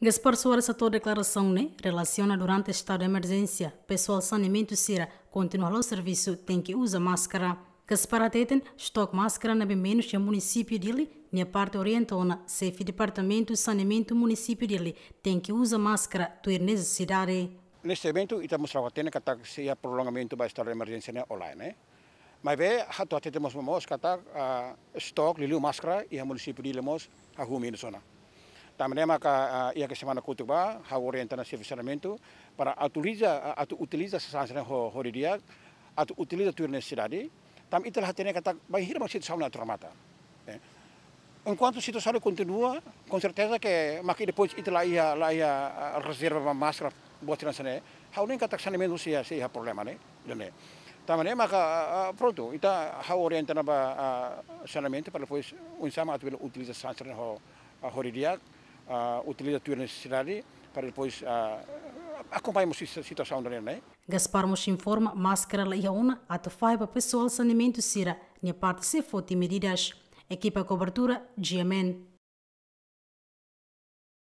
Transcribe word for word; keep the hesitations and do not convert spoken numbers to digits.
Gaspar Soares hato'o deklarasaun ne'e relasiona durante estadu de emerjénsia, pesoál saneamentu sira kontinua halo servisu tenke uza máskara. Gaspar hateten, estoke máskara ne'ebé menus iha munisípiu Dili, nia parte orienta ona xefe departamentu saneamentu munisípiu Dili tenke uza máskara tuir nesesidade. Neste momentu, ita mós la hatene katak sei iha prolongamentu ba estadu de emerjénsia ne'e ou lae, ne'e. Maibé, ha'u atu hatete mós, mós katak, ah, estoke liuliu máskara iha munisípiu Dili mós hahú menus ona. Tanba ne'e maka, ah, iha semana kotuk ba, ha'u orienta ona xefe saneamentu para utiliza, ah, atu utiliza sasán sira-ne'e ho, ho di'ak, atu utiliza tuir nesesidade. Tanba ita la hatene katak bainhira mak situasaun ne'e atu remata. Eh, enkuantu situasaun ne'e kontinua, konserteza ke mak depois ita la iha, la iha, ah, rezerva ba máskara buat sira hanesan ne'e. Ha'u hanoin katak saneamentu sei iha, sei iha problema ne'e, ida-ne'e. Tanba ne'e maka, ah, ah, prontu, ita ha'u orienta ona ba, ah, saneamentu para depois oinsá mak atu bele utiliza sasán sira-ne'e ho, ah, ho di'ak, ah, utiliza tuir nesesidade para depois, ah, akompaña mós si-, situasaun ida-ne'e. Gaspar mós informa, máskara la iha ona atu fahe ba pesoál saneamentu sira-nia parte sei foti medidas. Ekipa kobertura, G M N.